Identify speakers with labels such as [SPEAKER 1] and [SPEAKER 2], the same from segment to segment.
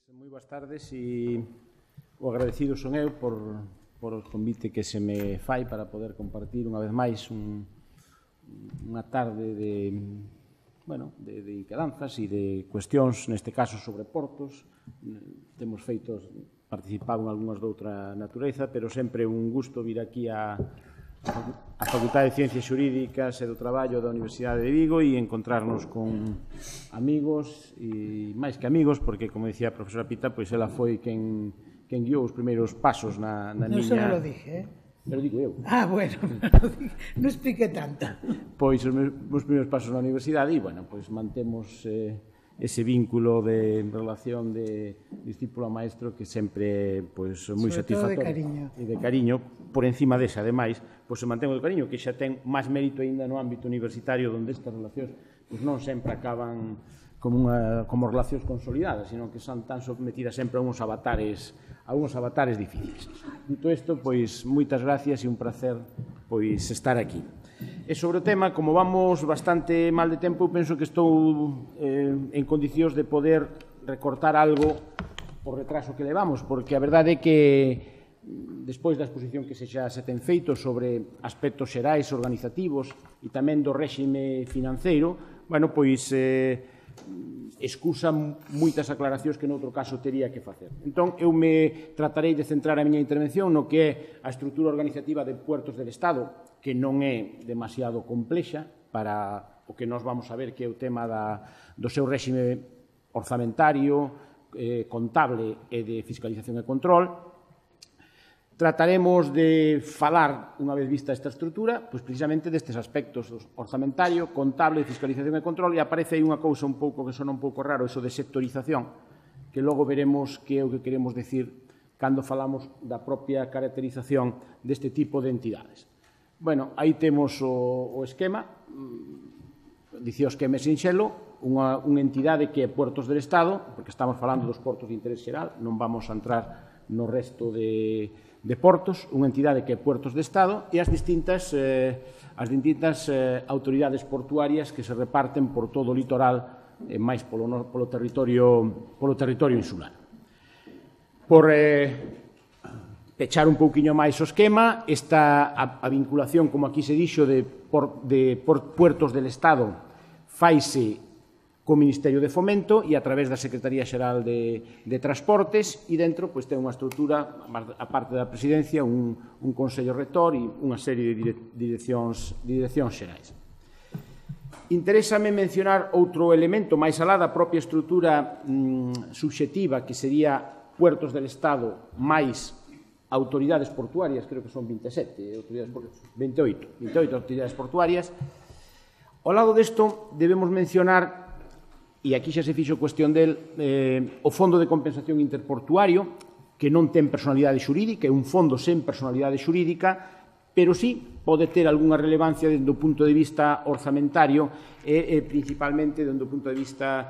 [SPEAKER 1] Moi boas tardes e o agradecido son eu por o convite que se me fai para poder compartir unha vez máis unha tarde de quedanzas e de cuestións, neste caso sobre portos. Temos participado en algunhas doutra natureza, pero sempre un gusto vir aquí a Facultade de Ciencias Xurídicas e do Traballo da Universidade de Vigo e encontrarnos con amigos e máis que amigos, porque, como dicía a profesora Pita, pois ela foi quen guiou os primeiros pasos na miña...
[SPEAKER 2] Non se lo dije,
[SPEAKER 1] Pero digo eu.
[SPEAKER 2] Bueno, non explique tanto.
[SPEAKER 1] Pois os meus primeiros pasos na universidade e, bueno, pois mantemos ese vínculo de relación de discípulo a maestro que sempre pois moi satisfactorio.
[SPEAKER 2] Sobre todo de cariño.
[SPEAKER 1] E de cariño, por encima desa, ademais, pois se mantén o cariño, que xa ten máis mérito aínda no ámbito universitario, onde estas relacións pois non sempre acaban como relacións consolidadas, sino que son tan sometidas sempre a uns avatares difíciles. Dito isto, pois, moitas gracias e un placer pois estar aquí. E sobre o tema, como vamos bastante mal de tempo, penso que estou en condicións de poder recortar algo por retraso que levamos, porque a verdade é que despois da exposición que xa se ten feito sobre aspectos xerais, organizativos e tamén do réxime financeiro, bueno, pois excusa moitas aclaracións que noutro caso tería que facer. Entón, eu me tratarei de centrar a miña intervención no que é a estrutura organizativa de Puertos del Estado, que non é demasiado complexa para o que nós vamos a ver, que é o tema do seu réxime orzamentario, contable e de fiscalización e control. Trataremos de falar, unha vez vista esta estrutura, pois precisamente destes aspectos, orzamentario, contable, fiscalización e control, e aparece aí unha cousa un pouco que sona un pouco raro, eso de sectorización, que logo veremos que é o que queremos decir cando falamos da propia caracterización deste tipo de entidades. Bueno, aí temos o esquema, dicía o esquema sinxelo, unha entidade que é Puertos del Estado, porque estamos falando dos portos de interés xeral, non vamos a entrar no resto de portos, unha entidade que é Puertos de Estado e as distintas autoridades portuarias que se reparten por todo o litoral, máis polo territorio insular. Por pechar un pouquiño máis o esquema, esta a vinculación, como aquí se dixo, de Puertos del Estado faise co Ministerio de Fomento e a través da Secretaría Xeral de Transportes e dentro ten unha estrutura, a parte da presidencia, un Consello Rector e unha serie de direccións xerais. Interésame mencionar outro elemento máis alá da propia estrutura subxectiva, que sería Puertos del Estado máis autoridades portuarias, creo que son 28 autoridades portuarias. Ao lado desto, debemos mencionar, e aquí xa se fixo cuestión del, o Fondo de Compensación Interportuario, que non ten personalidade xurídica, é un fondo sen personalidade xurídica, pero sí pode ter algunha relevancia desde o punto de vista orzamentario e principalmente desde o punto de vista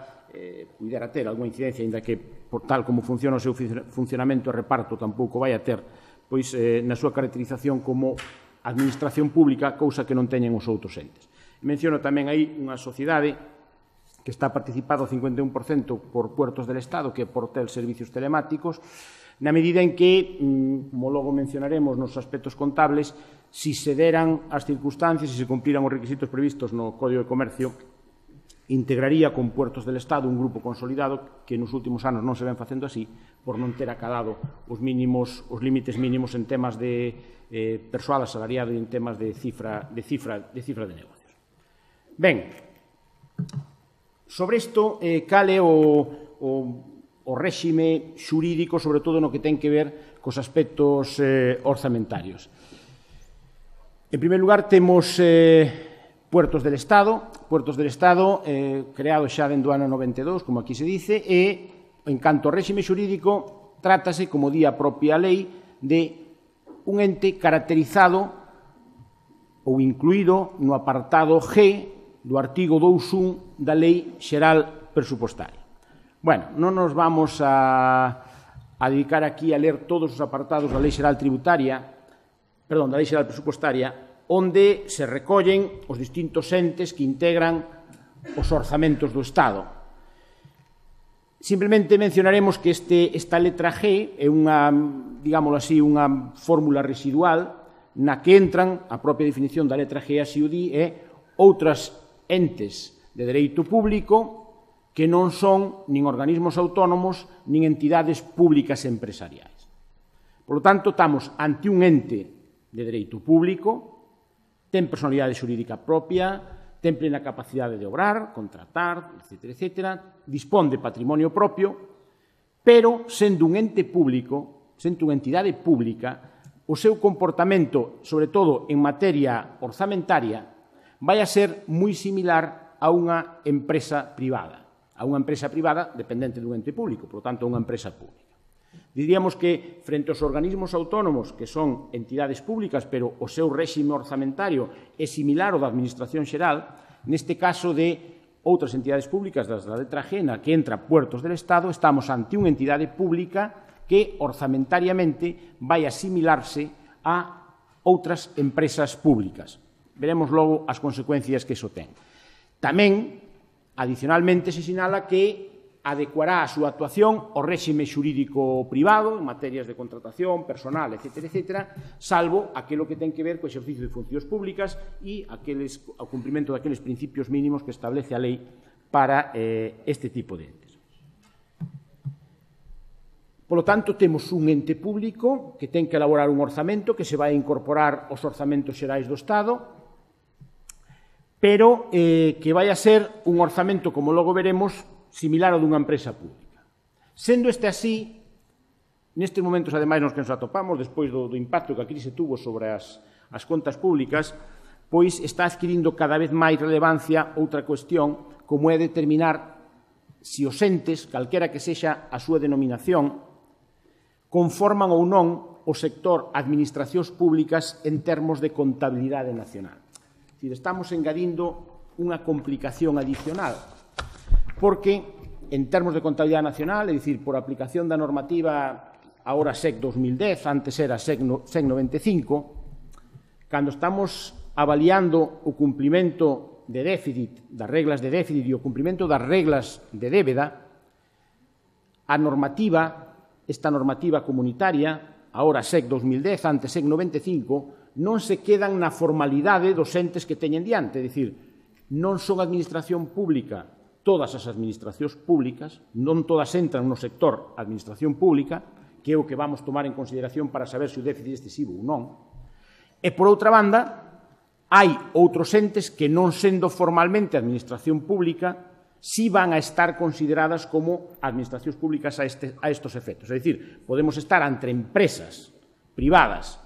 [SPEAKER 1] pudera ter algunha incidencia, ainda que por tal como funciona o seu funcionamento e reparto tampouco vai a ter, pois na súa caracterización como administración pública, cousa que non teñen os outros entes. Menciono tamén aí unha sociedade que está participado 51% por Puertos del Estado, que é Portel Servicios Telemáticos, na medida en que, como logo mencionaremos nos aspectos contables, si se deran as circunstancias, si se cumpliran os requisitos previstos no Código de Comercio, integraría con Puertos del Estado un grupo consolidado que nos últimos anos non se ven facendo así, por non ter acadado os límites mínimos en temas de persoal asalariado e en temas de cifra de negocios. Ben, sobre isto, cal é o réxime xurídico, sobre todo no que ten que ver cos aspectos orzamentarios. En primeiro lugar, temos Puertos del Estado, creado xa dentro do ano 92, como aquí se dice, e, en canto ao réxime xurídico, trátase, como di a propia lei, de un ente caracterizado ou incluído no apartado G do artigo 2.1 da Lei Xeral Presupostaria. Bueno, non nos vamos a dedicar aquí a ler todos os apartados da Lei Xeral Presupostaria, onde se recollen os distintos entes que integran os orzamentos do Estado. Simplemente mencionaremos que esta letra G é unha, digámoslo así, unha fórmula residual na que entran, a propia definición da letra G así o di, outras entes de dereito público que non son nin organismos autónomos nin entidades públicas empresariais. Por lo tanto, estamos ante un ente de dereito público, ten personalidade xurídica propia, ten plena capacidade de obrar, contratar, etc., dispón de patrimonio propio, pero, sendo un ente público, sendo unha entidade pública, o seu comportamento, sobre todo en materia orzamentaria, vai a ser moi similar a unha empresa privada, dependente dun ente público, por lo tanto, unha empresa pública. Diríamos que, frente aos organismos autónomos, que son entidades públicas, pero o seu réxime orzamentario é similar ao da Administración Xeral, neste caso de outras entidades públicas das da letra G, na que entra Puertos del Estado, estamos ante unha entidade pública que orzamentariamente vai asimilarse a outras empresas públicas. Veremos logo as consecuencias que iso ten. Tamén, adicionalmente, se sinala que adecuará a súa actuación ao réxime xurídico privado en materias de contratación, personal, etc., salvo aquilo que ten que ver co exercicio de funcións públicas e o cumprimento daqueles principios mínimos que establece a lei para este tipo de entes. Por lo tanto, temos un ente público que ten que elaborar un orzamento que se vai incorporar aos orzamentos xerais do Estado, pero que vai a ser un orzamento, como logo veremos, similar ao dunha empresa pública. Sendo este así, nestes momentos, ademais, nos que nos atopamos, despois do impacto que a crise tuvo sobre as contas públicas, pois está adquirindo cada vez máis relevancia outra cuestión, como é determinar se os entes, calquera que sexa a súa denominación, conforman ou non o sector administracións públicas en termos de contabilidade nacional. É dicir, estamos engadindo unha complicación adicional, porque, en termos de contabilidade nacional, é dicir, por aplicación da normativa agora SEC 2010, antes era SEC 95, cando estamos avaliando o cumprimento de déficit, das reglas de déficit e o cumprimento das reglas de débeda, esta normativa comunitaria, agora SEC 2010, antes SEC 95, non se quedan na formalidade dos entes que teñen diante, é dicir, non son administración pública todas as administracións públicas, non todas entran no sector administración pública, que é o que vamos tomar en consideración para saber se o déficit é excesivo ou non. E, por outra banda, hai outros entes que, non sendo formalmente administración pública, si van a estar consideradas como administracións públicas a estos efectos. É dicir, podemos estar entre empresas privadas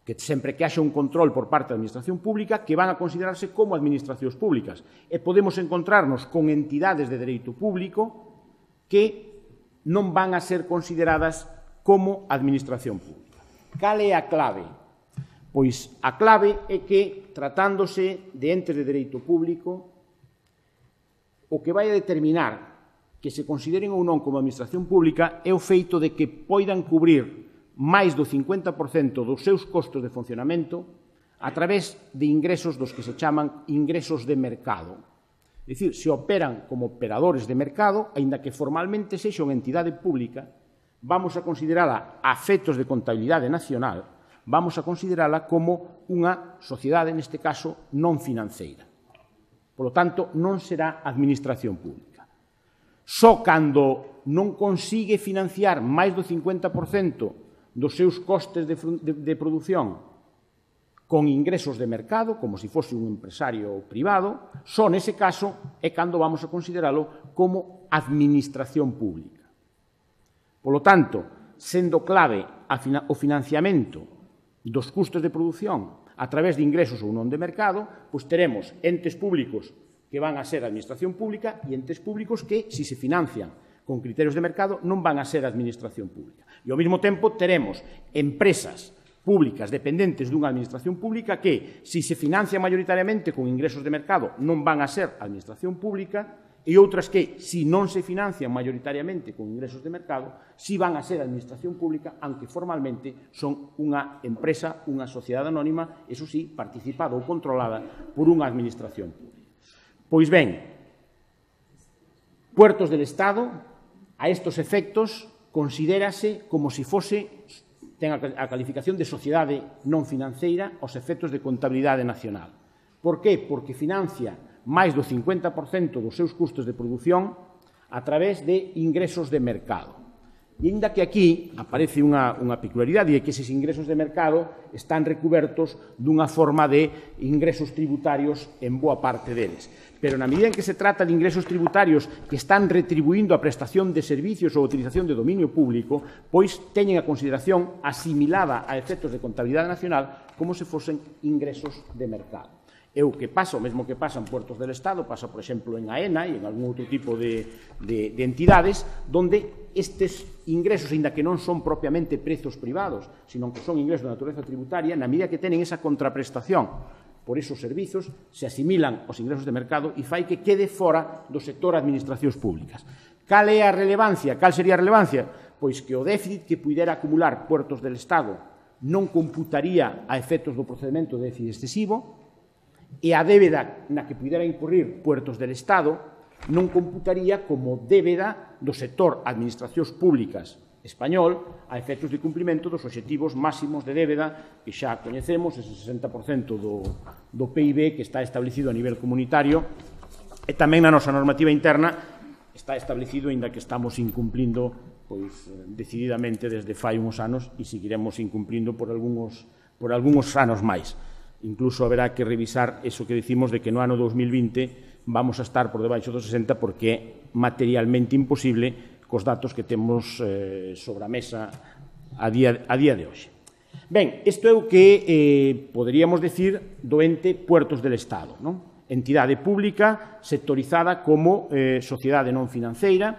[SPEAKER 1] que sempre que haxa un control por parte da administración pública que van a considerarse como administracións públicas. E podemos encontrarnos con entidades de dereito público que non van a ser consideradas como administración pública. Cal é a clave? Pois a clave é que, tratándose de entes de dereito público, o que vai a determinar que se consideren ou non como administración pública é o feito de que poidan cubrir máis do 50% dos seus costos de funcionamento a través de ingresos dos que se chaman ingresos de mercado. É dicir, se operan como operadores de mercado, aínda que formalmente sexa unha entidade pública, vamos a considerala a efectos de contabilidade nacional, vamos a considerala como unha sociedade, neste caso, non financeira. Por lo tanto, non será administración pública. Só cando non consigue financiar máis do 50% dos seus costes de produción con ingresos de mercado, como se fose un empresario privado, só nese caso é cando vamos a consideralo como administración pública. Por lo tanto, sendo clave o financiamento dos custos de produción a través de ingresos ou non de mercado, pois teremos entes públicos que van a ser administración pública e entes públicos que, se se financian con criterios de mercado, non van a ser administración pública. E, ao mesmo tempo, teremos empresas públicas dependentes dunha administración pública que, se se financian maioritariamente con ingresos de mercado, non van a ser administración pública, e outras que, se non se financian maioritariamente con ingresos de mercado, si van a ser administración pública, aunque formalmente son unha empresa, unha sociedade anónima, eso sí, participada ou controlada por unha administración pública. Pois ben, Puertos del Estado, a estos efectos, considérase como se fose, ten a calificación de sociedade non financeira aos efectos de contabilidade nacional. Por que? Porque financia máis do 50% dos seus custos de produción a través de ingresos de mercado. E ainda que aquí aparece unha peculiaridade, e que eses ingresos de mercado están recubertos dunha forma de ingresos tributarios en boa parte deles. Pero na medida en que se trata de ingresos tributarios que están retribuindo a prestación de servicios ou a utilización de dominio público, pois teñen a consideración asimilada a efectos de contabilidade nacional como se fosen ingresos de mercado. É o que pasa, o mesmo que pasa en Puertos del Estado, pasa, por exemplo, en AENA e en algún outro tipo de entidades, donde estes ingresos, ainda que non son propiamente prezos privados, sino que son ingresos de natureza tributaria, na medida que tenen esa contraprestación por esos servizos, se asimilan aos ingresos de mercado e fai que quede fora do sector administracións públicas. Cal é a relevancia? Cal sería a relevancia? Pois que o déficit que pudera acumular Puertos del Estado non computaría a efectos do procedimento de déficit excesivo, e a débeda na que pudera incurrir Puertos del Estado non computaría como débeda do sector administracións públicas español a efectos de cumprimento dos obxectivos máximos de débeda que xa coñecemos, ese 60% do PIB que está establecido a nivel comunitario e tamén na nosa normativa interna está establecido, aínda que estamos incumplindo pois decididamente desde fai uns anos e seguiremos incumplindo por algúns anos máis. Incluso haberá que revisar eso que decimos de que no ano 2020 vamos a estar por debaixo dos 60 porque é materialmente imposible cos datos que temos sobre a mesa a día de hoxe. Ben, isto é o que poderíamos decir do ente Puertos del Estado, non? Entidade pública sectorizada como sociedade non financeira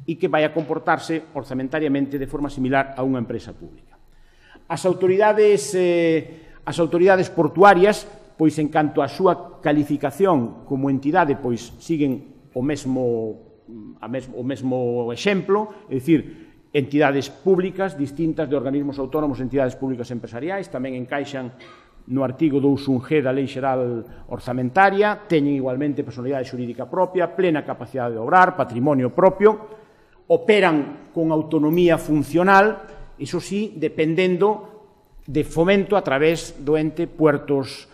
[SPEAKER 1] e que vai a comportarse orzamentariamente de forma similar a unha empresa pública. As autoridades portuarias, pois en canto á súa calificación como entidade, pois siguen o mesmo exemplo, é dicir, entidades públicas distintas de organismos autónomos, entidades públicas empresariais, tamén encaixan no artigo 2.1g da Lei Xeral Orzamentaria, teñen igualmente personalidade xurídica propia, plena capacidade de obrar, patrimonio propio, operan con autonomía funcional, iso sí, dependendo de fomento a través do ente Puertos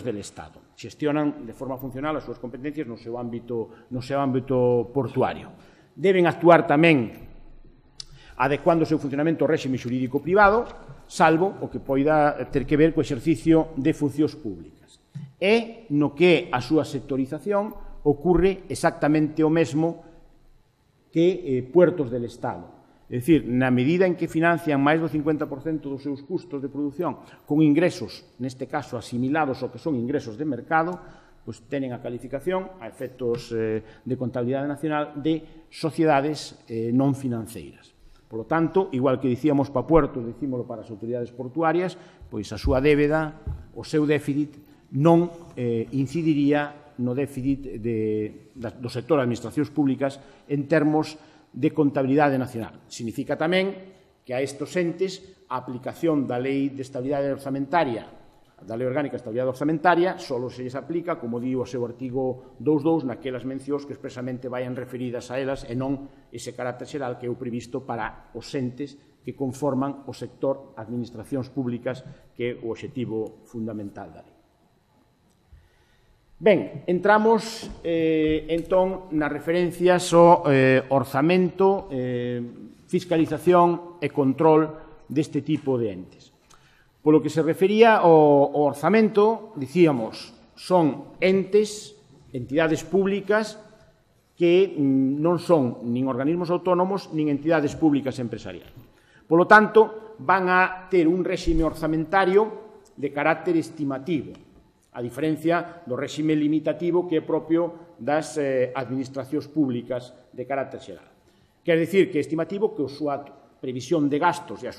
[SPEAKER 1] del Estado. Xestionan de forma funcional as súas competencias no seu ámbito portuario. Deben actuar tamén adecuando o seu funcionamento ao réxime xurídico privado, salvo o que poida ter que ver co exercicio de funcións públicas. E no que a súa sectorización ocurre exactamente o mesmo que Puertos del Estado. É dicir, na medida en que financian máis do 50% dos seus custos de produción con ingresos, neste caso asimilados ao que son ingresos de mercado, pois tenen a calificación a efectos de contabilidade nacional de sociedades non financeiras. Por lo tanto, igual que dicíamos para Puertos, dicímolo para as autoridades portuarias, pois a súa débeda, o seu déficit, non incidiría no déficit do sector de administracións públicas en termos de contabilidade nacional. Significa tamén que a estes entes a aplicación da Lei de Estabilidade Orzamentaria, da Lei Orgánica de Estabilidade Orzamentaria, só se lles aplica, como di o seu artigo 2.2, naquelas mencións que expresamente vayan referidas a elas e non ese carácter xeral que é o previsto para os entes que conforman o sector administracións públicas, que é o obxectivo fundamental da lei. Ben, entramos entón nas referencias ao orzamento, fiscalización e control deste tipo de entes. Polo que se refería ao orzamento, dicíamos, son entidades públicas que non son nin organismos autónomos nin entidades públicas empresariais. Polo tanto, van a ter un réxime orzamentario de carácter estimativo, a diferencia do réxime limitativo que é propio das administracións públicas de carácter xeral. Quer dicir que é estimativo que a súa previsión de gastos e a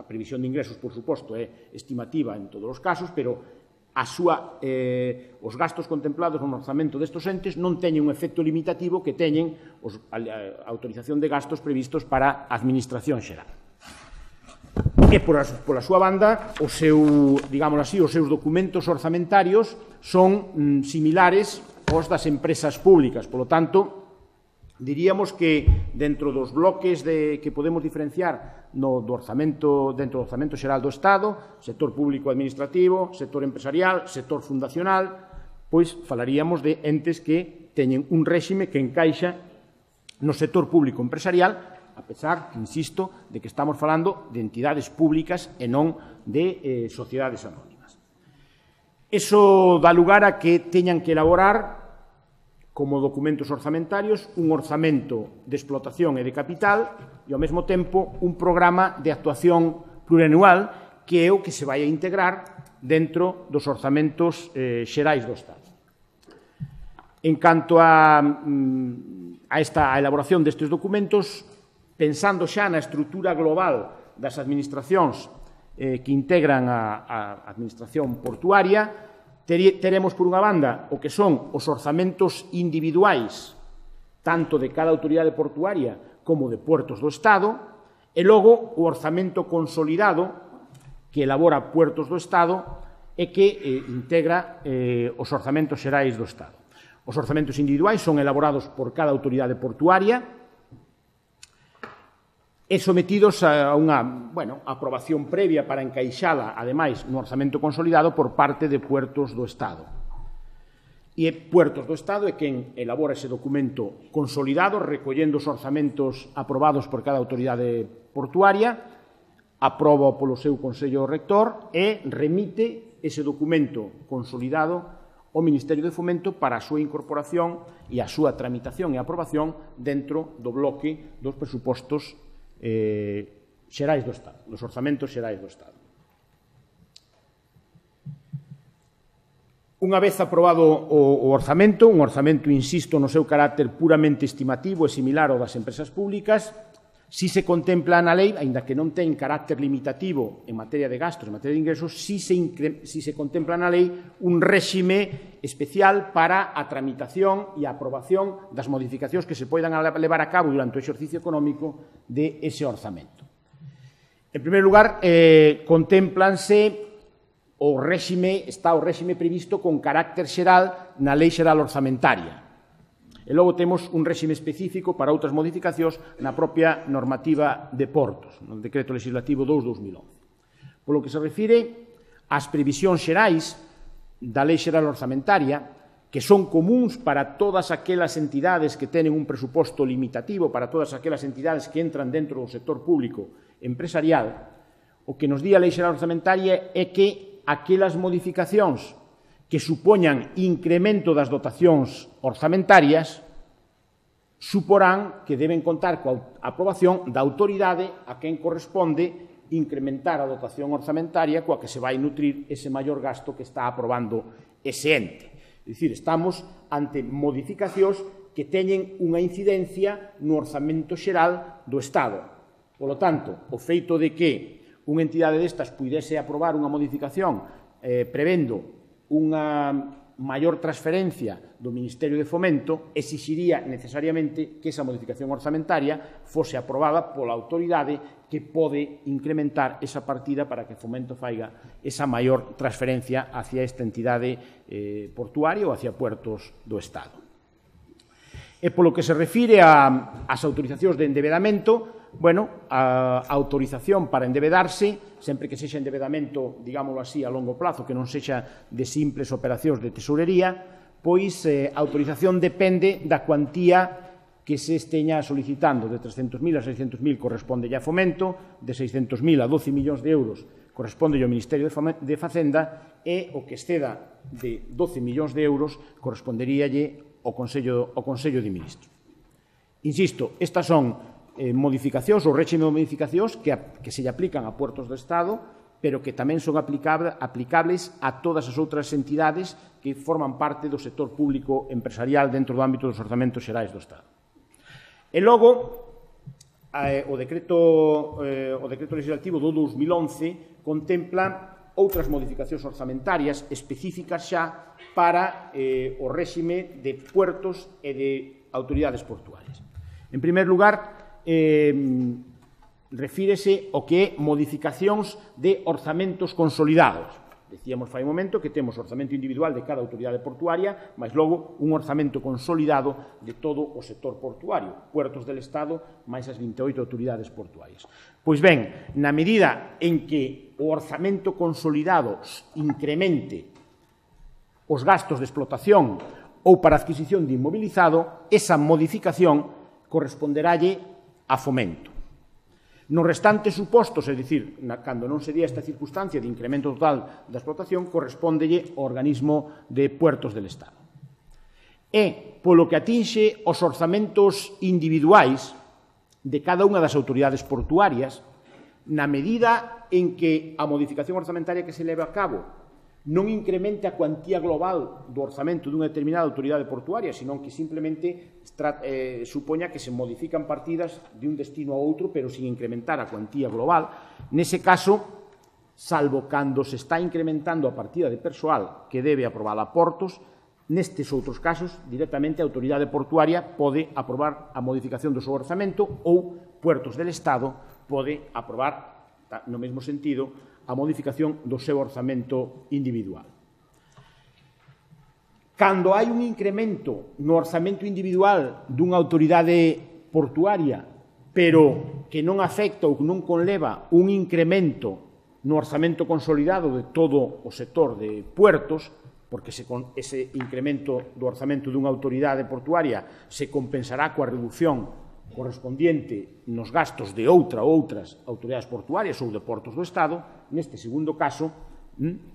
[SPEAKER 1] previsión de ingresos, por suposto, é estimativa en todos os casos, pero os gastos contemplados no orzamento destes entes non teñen un efecto limitativo que teñen a autorización de gastos previstos para a administración xeral. E, pola súa banda, os seus documentos orzamentarios son similares aos das empresas públicas. Por lo tanto, diríamos que dentro dos bloques que podemos diferenciar dentro do orzamento xeral do Estado, sector público administrativo, sector empresarial, sector fundacional, pois falaríamos de entes que teñen un réxime que encaixa no sector público empresarial, a pesar, insisto, de que estamos falando de entidades públicas e non de sociedades anónimas. Eso dá lugar a que teñan que elaborar como documentos orzamentarios un orzamento de explotación e de capital e, ao mesmo tempo, un programa de actuación plurianual que é o que se vai a integrar dentro dos orzamentos xerais do Estado. En canto a esta elaboración destes documentos, pensando xa na estrutura global das administracións que integran a administración portuaria, teremos, por unha banda, o que son os orzamentos individuais, tanto de cada autoridade portuaria como de Puertos do Estado, e logo o orzamento consolidado que elabora Puertos do Estado e que integra os orzamentos xerais do Estado. Os orzamentos individuais son elaborados por cada autoridade portuaria e sometidos a unha aprobación previa para encaixala, ademais, no orzamento consolidado por parte de Puertos do Estado. E Puertos do Estado é quen elabora ese documento consolidado, recollendo os orzamentos aprobados por cada autoridade portuaria, aproba polo seu Consello Rector e remite ese documento consolidado ao Ministerio de Fomento para a súa incorporación e a súa tramitación e aprobación dentro do bloque dos presupostos xerais do Estado, dos orzamentos xerais do Estado. Unha vez aprobado o orzamento, un orzamento, insisto, no seu carácter puramente estimativo e similar ao das empresas públicas, si se contempla na lei, aínda que non ten carácter limitativo en materia de gastos, en materia de ingresos, si se contempla na lei un réxime especial para a tramitación e a aprobación das modificacións que se poidan levar a cabo durante o exercicio económico de ese orzamento. En primeiro lugar, está o réxime previsto con carácter xeral na Lei Xeral Orzamentaria. E logo temos un réxime específico para outras modificacións na propia normativa de portos, no Decreto Legislativo 2/2011. Polo que se refire ás previsións xerais da Lei Xeral Orzamentaria, que son comuns para todas aquelas entidades que teñen un presuposto limitativo, para todas aquelas entidades que entran dentro do sector público empresarial, o que nos di a Lei Xeral Orzamentaria é que aquelas modificacións que supoñan incremento das dotacións orzamentarias suporán que deben contar coa aprobación da autoridade a quen corresponde incrementar a dotación orzamentaria coa que se vai nutrir ese maior gasto que está aprobando ese ente. É dicir, estamos ante modificacións que teñen unha incidencia no orzamento xeral do Estado. Polo tanto, o feito de que unha entidade destas puidese aprobar unha modificación prevendo unha maior transferencia do Ministerio de Fomento exixiría necesariamente que esa modificación orzamentaria fose aprobada pola autoridade que pode incrementar esa partida para que Fomento faiga esa maior transferencia hacia esta entidade portuaria ou hacia Puertos do Estado. E polo que se refire ás autorizacións de endebedamento, a autorización para endebedarse, sempre que sexa endebedamento, digámoslo así, a longo plazo, que non sexa de simples operacións de tesourería, pois a autorización depende da cuantía que se esteña solicitando. De 300.000 a 600.000 corresponde a Fomento, de 600.000 a 12 millóns de euros corresponde ao Ministerio de Facenda e o que exceda de 12 millóns de euros corresponderíalle ao Consello de Ministros. Insisto, estas son modificacións ou réxime de modificacións que se lle aplican a Puertos do Estado, pero que tamén son aplicables a todas as outras entidades que forman parte do sector público empresarial dentro do ámbito dos orzamentos xerais do Estado. E logo, o decreto legislativo do 2011 contempla outras modificacións orzamentarias específicas xa para o réxime de puertos e de autoridades portuarias. En primeiro lugar, refírese ao que é modificacións de orzamentos consolidados. Decíamos fai un momento que temos orzamento individual de cada autoridade portuaria, mas logo un orzamento consolidado de todo o sector portuario, puertos del Estado, máis as 28 autoridades portuarias. Pois ben, na medida en que o orzamento consolidado incremente os gastos de explotación ou para adquisición de inmobilizado, esa modificación corresponderálle a Fomento. Nos restantes supostos, é dicir, cando non se día esta circunstancia de incremento total da explotación, correspóndelle ao organismo de Puertos del Estado. E, polo que atinxe os orzamentos individuais de cada unha das autoridades portuarias, na medida en que a modificación orzamentaria que se leve a cabo non incremente a cuantía global do orzamento dunha determinada autoridade portuaria, senón que simplemente supoña que se modifican partidas de un destino a outro, pero sin incrementar a cuantía global. Nese caso, salvo cando se está incrementando a partida de persoal que debe aprobar a Portos, nestes outros casos, directamente a autoridade portuaria pode aprobar a modificación do seu orzamento ou Puertos del Estado pode aprobar, no mesmo sentido, a modificación do seu orzamento individual. Cando hai un incremento no orzamento individual dunha autoridade portuaria, pero que non afecta ou non conleva un incremento no orzamento consolidado de todo o sector de puertos, porque ese incremento do orzamento dunha autoridade portuaria se compensará coa reducción correspondiente nos gastos de outra ou outras autoridades portuarias ou de Portos do Estado. Neste segundo caso,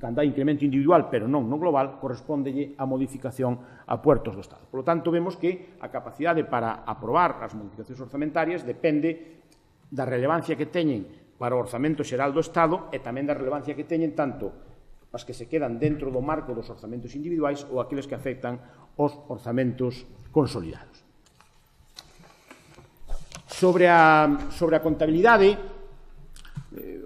[SPEAKER 1] cando hai incremento individual, pero non no global, correspóndelle a modificación a Puertos do Estado. Por lo tanto, vemos que a capacidade para aprobar as modificacións orzamentarias depende da relevancia que teñen para o orzamento xeral do Estado e tamén da relevancia que teñen tanto as que se quedan dentro do marco dos orzamentos individuais ou aqueles que afectan os orzamentos consolidados. Sobre a contabilidade,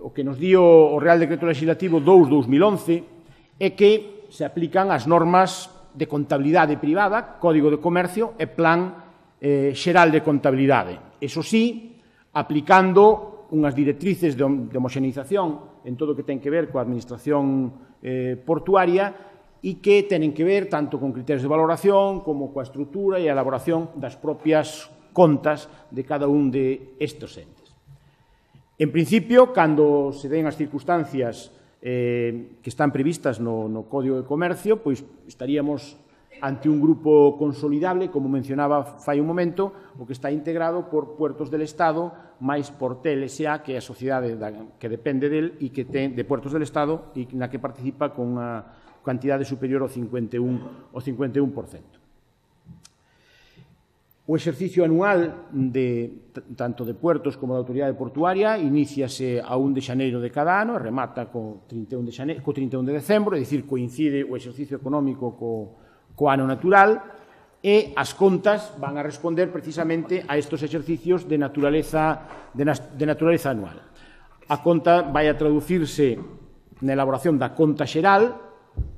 [SPEAKER 1] o que nos dio o Real Decreto Legislativo 2/2011 é que se aplican as normas de contabilidade privada, Código de Comercio e Plan Xeral de Contabilidade. Eso sí, aplicando unhas directrices de homoxeneización en todo o que ten que ver coa administración portuaria e que tenen que ver tanto con criterios de valoración como coa estrutura e a elaboración das propias contas de cada un de estes entes. En principio, cando se den as circunstancias que están previstas no Código de Comercio, pois estaríamos ante un grupo consolidable, como mencionaba fai un momento, o que está integrado por Puertos del Estado máis por TLSA, que é a sociedade que depende del e que ten de Puertos del Estado e na que participa con unha cantidade superior ao 51%. O exercicio anual tanto de Puertos como da autoridade portuaria iníciase a 1 de xaneiro de cada ano e remata co 31 de decembro, é dicir, coincide o exercicio económico co ano natural e as contas van a responder precisamente a estes exercicios de naturaleza anual. A conta vai a traducirse na elaboración da conta xeral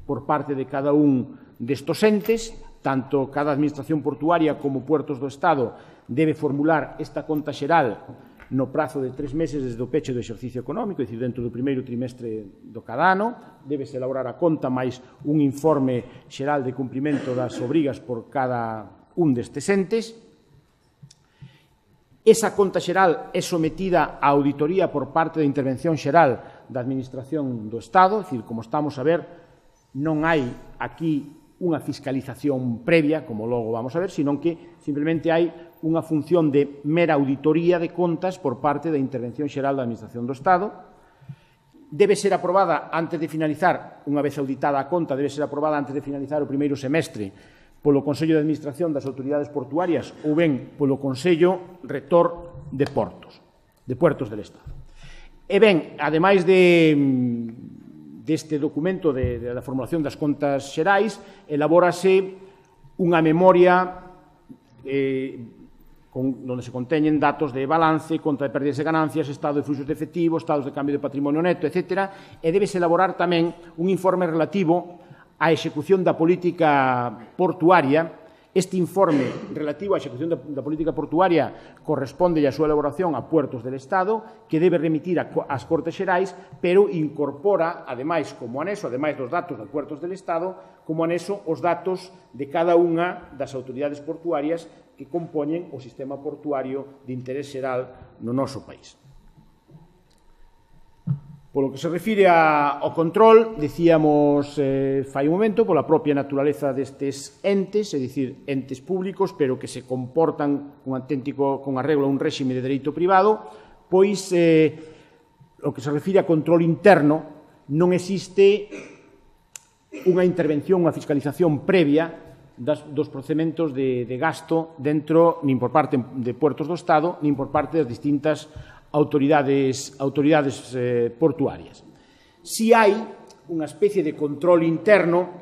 [SPEAKER 1] por parte de cada un destos entes. Tanto cada administración portuaria como Puertos do Estado debe formular esta conta xeral no prazo de 3 meses desde o peche do exercicio económico, é dicir, dentro do primeiro trimestre do cada ano. Débese elaborar a conta máis un informe xeral de cumprimento das obrigas por cada un destes entes. Esa conta xeral é sometida a auditoría por parte da intervención xeral da Administración do Estado, é dicir, como estamos a ver, non hai aquí unha fiscalización previa, como logo vamos a ver, senón que simplemente hai unha función de mera auditoría de contas por parte da Intervención Xeral da Administración do Estado. Debe ser aprobada antes de finalizar, unha vez auditada a conta, debe ser aprobada antes de finalizar o primeiro semestre polo Consello de Administración das Autoridades Portuarias ou ben polo Consello Rector de Puertos del Estado. E ben, ademais deste documento da formulación das contas xerais, elabórase unha memoria onde se conteñen datos de balance, conta de pérdidas e ganancias, estado de fluxos de efectivo, estados de cambio de patrimonio neto, etc. E debese elaborar tamén un informe relativo á execución da política portuaria Este informe relativo á execución da política portuaria corresponde a súa elaboración a Puertos del Estado, que debe remitir ás Cortes Xerais, pero incorpora, ademais, como anexo, ademais dos datos de Puertos del Estado, como anexo os datos de cada unha das autoridades portuarias que compoñen o sistema portuario de interés xeral no noso país. Polo que se refire ao control, dicíamos fai un momento, pola propia naturaleza destes entes, é dicir, entes públicos, pero que se comportan con arreglo a un réxime de dereito privado, pois, o que se refire a control interno, non existe unha intervención, unha fiscalización previa dos procedementos de gasto dentro, nin por parte de Puertos do Estado, nin por parte das distintas autoridades portuarias. Si hai unha especie de control interno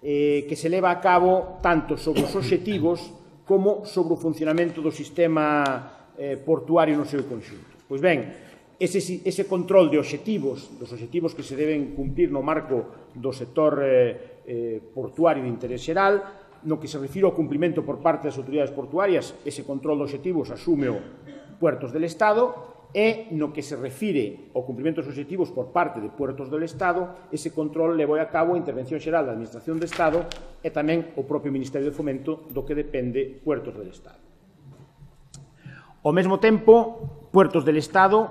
[SPEAKER 1] que se leva a cabo tanto sobre os obxectivos como sobre o funcionamento do sistema portuario no seu conxunto. Pois ben, ese control de obxectivos, dos obxectivos que se deben cumplir no marco do sector portuario de interés xeral, no que se refire ao cumprimento por parte das autoridades portuarias, ese control de obxectivos asume o Puertos del Estado, e no que se refire ao cumprimento dos obxectivos por parte de Puertos del Estado, ese control levou a cabo a Intervención Xeral da Administración do Estado e tamén o propio Ministerio de Fomento, do que depende Puertos del Estado. Ao mesmo tempo, Puertos del Estado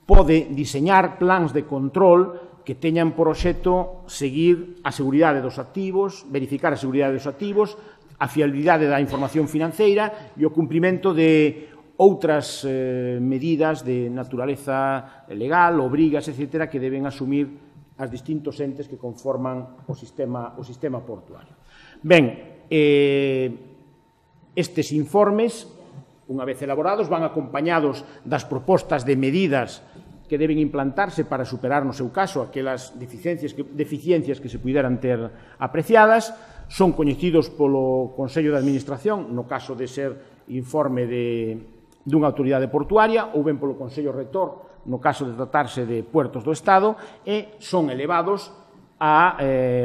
[SPEAKER 1] pode diseñar plans de control que teñan por obxecto seguir a seguridade dos activos, verificar a seguridade dos activos, a fiabilidade da información financeira e o cumprimento de outras medidas de naturaleza legal, obrigas, etc., que deben asumir as distintos entes que conforman o sistema portuario. Ben, estes informes, unha vez elaborados, van acompañados das propostas de medidas que deben implantarse para superar, no seu caso, aquelas deficiencias que se puderan ter apreciadas. Son coñecidos polo Consello de Administración, no caso de ser informe dunha autoridade portuaria, ou ben polo Consello Rector, no caso de tratarse de Puertos do Estado, e son elevados a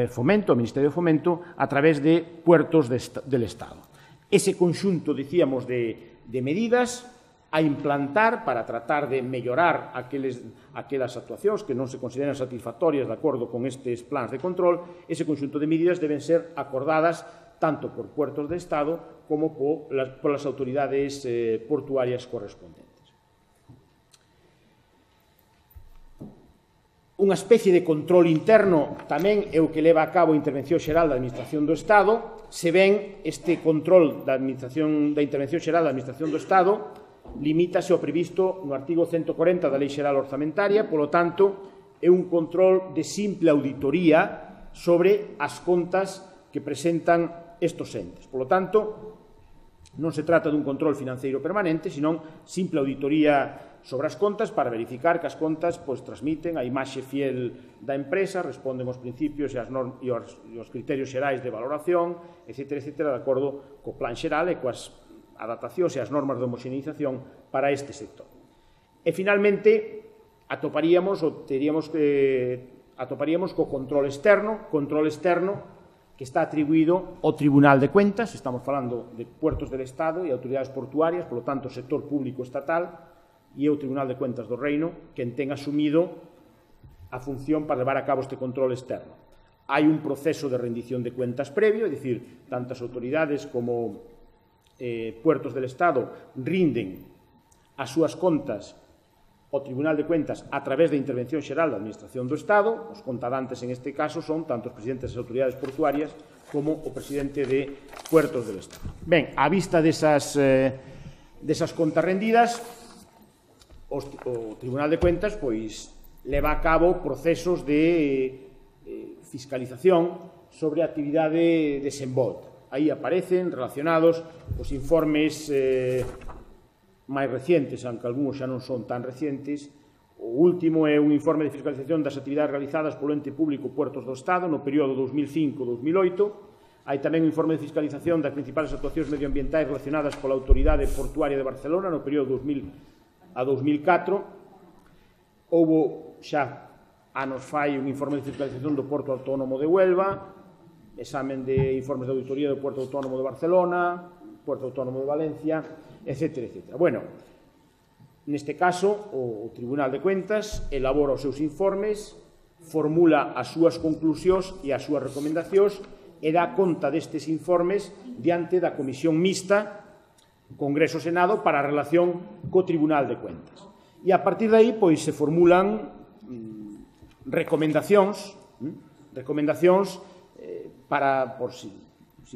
[SPEAKER 1] Fomento, ao Ministerio de Fomento, a través de Puertos del Estado. Ese conxunto, dicíamos, de medidas a implantar para tratar de mellorar aquelas actuacións que non se consideran satisfactorias de acordo con estes plans de control, ese conxunto de medidas deben ser acordadas tanto por Puertos de Estado como polas autoridades portuarias correspondentes. Unha especie de control interno tamén é o que leva a cabo a Intervención Xeral da Administración do Estado. Se ven, este control da Intervención Xeral da Administración do Estado limítase ao previsto no artigo 140 da Lei Xeral Orzamentaria, polo tanto, é un control de simple auditoría sobre as contas que presentan estos entes. Por lo tanto, non se trata dun control financeiro permanente, senón simple auditoría sobre as contas para verificar que as contas transmiten a imaxe fiel da empresa, responden aos principios e aos criterios xerais de valoración, etc., de acordo co plan xeral e coas adaptacións e as normas de homoxeneización para este sector. E, finalmente, atoparíamos co control externo, que está atribuído ao Tribunal de Cuentas, estamos falando de Puertos del Estado e autoridades portuarias, polo tanto, sector público estatal, e o Tribunal de Cuentas do Reino, quen ten asumido a función para levar a cabo este control externo. Hai un proceso de rendición de cuentas previo, é dicir, tantas autoridades como Puertos del Estado rinden as súas contas ao Tribunal de Cuentas a través da Intervención Xeral da Administración do Estado. Os contadantes, en este caso, son tanto os presidentes das autoridades portuarias como o presidente de Puertos del Estado. Ben, á vista desas contas rendidas, o Tribunal de Cuentas leva a cabo procesos de fiscalización sobre a actividade desenvolta. Aí aparecen relacionados os informes máis recientes, aunque algúns xa non son tan recientes. O último é un informe de fiscalización das actividades realizadas polo ente público Puertos do Estado no período 2005-2008. Hai tamén un informe de fiscalización das principales actuacións medioambientais relacionadas pola Autoridade Portuaria de Barcelona no período 2000 a 2004. Houbo xa anos fai un informe de fiscalización do Porto Autónomo de Huelva, examen de informes de auditoría do Puerto Autónomo de Barcelona, Puerto Autónomo de Valencia, etcétera, etcétera. Bueno, neste caso, o Tribunal de Cuentas elabora os seus informes, formula as súas conclusións e as súas recomendacións e dá conta destes informes diante da Comisión Mixta Congreso-Senado para a relación co Tribunal de Cuentas. E a partir de aí, pois, se formulan recomendacións para, por si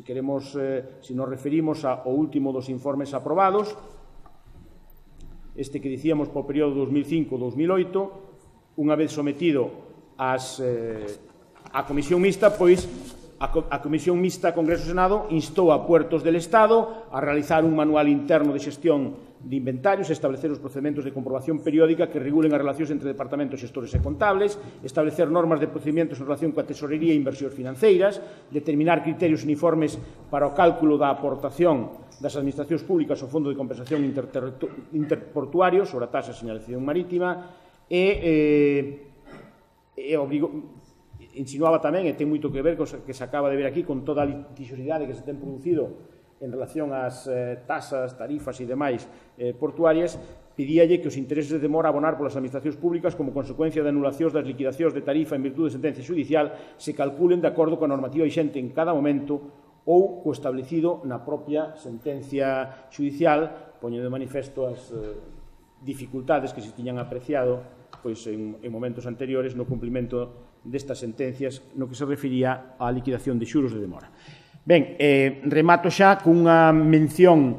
[SPEAKER 1] queremos, si nos referimos ao último dos informes aprobados, este que dicíamos por período 2005-2008, unha vez sometido á Comisión Mixta, pois a Comisión Mixta Congreso-Senado instou a Puertos del Estado a realizar un manual interno de xestión de inventarios, establecer os procedementos de comprobación periódica que regulen as relacións entre departamentos xestores e contables, establecer normas de procedimentos en relación coa tesorería e inversións financeiras, determinar criterios uniformes para o cálculo da aportación das administracións públicas ao Fondo de Compensación Interportuario sobre a taxa de señalización marítima e insinuaba tamén, e ten moito que ver co que se acaba de ver aquí, con toda a litixiosidade que se ten producido en relación ás tasas, tarifas e demais portuarias, pedíalle que os intereses de demora a abonar polas administracións públicas como consecuencia de anulacións das liquidacións de tarifa en virtude de sentencia judicial se calculen de acordo coa normativa vixente en cada momento ou co establecido na propia sentencia judicial, poñendo de manifesto as dificultades que se tiñan apreciado pois, en momentos anteriores no cumprimento destas sentencias no que se refería á liquidación de xuros de demora. Ben, remato xa cunha mención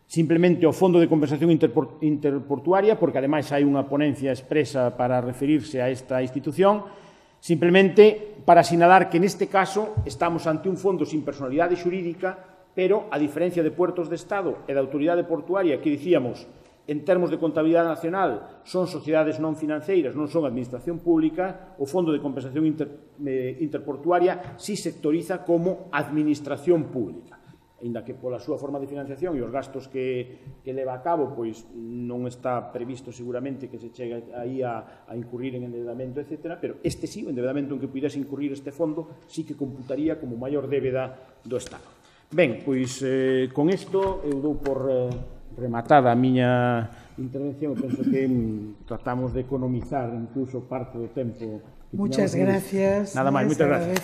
[SPEAKER 1] simplemente ao Fondo de Compensación Interportuaria, porque ademais hai unha ponencia expresa para referirse a esta institución, simplemente para sinalar que neste caso estamos ante un fondo sin personalidade xurídica, pero, a diferencia de Puertos de Estado e da Autoridade Portuaria, que dicíamos, en termos de contabilidade nacional, son sociedades non financeiras, non son administración pública, o Fondo de Compensación Interportuaria si sectoriza como administración pública. Ainda que pola súa forma de financiación e os gastos que leva a cabo, pois non está previsto seguramente que se chegue aí a incurrir en endeudamento, etc. Pero este sí, o endeudamento en que pudese incurrir este fondo, sí que computaría como maior débeda do Estado. Ben, pois con isto eu dou por rematada a miña intervención. Penso que tratamos de economizar incluso parte do tempo que
[SPEAKER 2] Muchas gracias.
[SPEAKER 1] Nada máis, moitas gracias.